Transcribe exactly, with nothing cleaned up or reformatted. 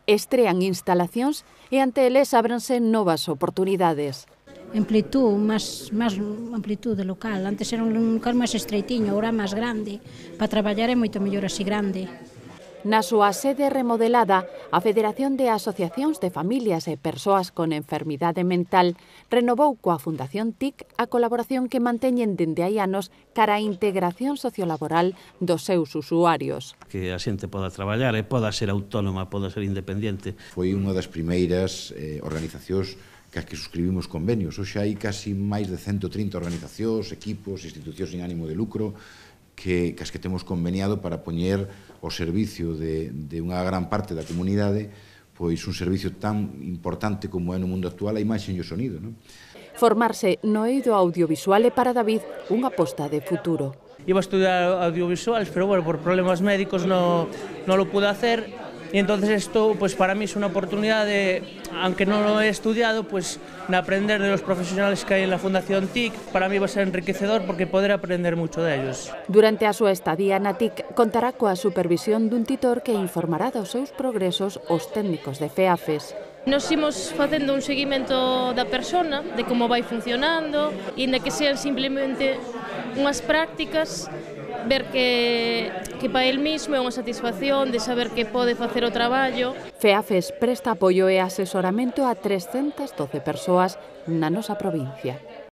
estrean instalacións e ante eles ábranse novas oportunidades. Amplitud, máis, máis amplitude local. Antes era un local máis estreitiño, agora máis grande. Para traballar é moito mellor así grande. Na súa sede remodelada, a Federación de Asociacións de Familias e Persoas con Enfermidade Mental renovou coa Fundación T I C a colaboración que manteñen dende hai anos cara á integración sociolaboral dos seus usuarios. Que a xente poda traballar e poda ser autónoma, poda ser independente. Foi unha das primeiras eh, organizacións que as que suscribimos convenios. Hoxe hai casi máis de ciento trinta organizacións, equipos, institucións sin ánimo de lucro que, que as que temos conveniado para poñer ao servicio de, de unha gran parte da comunidade pois un servicio tan importante como é no mundo actual a imaxe e o sonido. Non? Formarse no eido audiovisual é para David unha aposta de futuro. Iba a estudiar audiovisuales, pero bueno, por problemas médicos no, no lo pude hacer. Y entonces esto, pues para mí es una oportunidad de, aunque no lo he estudiado, pues de aprender de los profesionales que hay en la Fundación T I C. Para mí va a ser enriquecedor porque poder aprender mucho de ellos. Durante a súa estadía na T I C contará coa supervisión dun titor que informará dos seus progresos aos técnicos de FEAFES. Nos imos facendo un seguimento da persona, de como vai funcionando, e de que sean simplemente unhas prácticas, ver que, que para el mismo é unha satisfacción de saber que pode facer o traballo. FEAFES presta apoio e asesoramento a trescentas doce persoas na nosa provincia.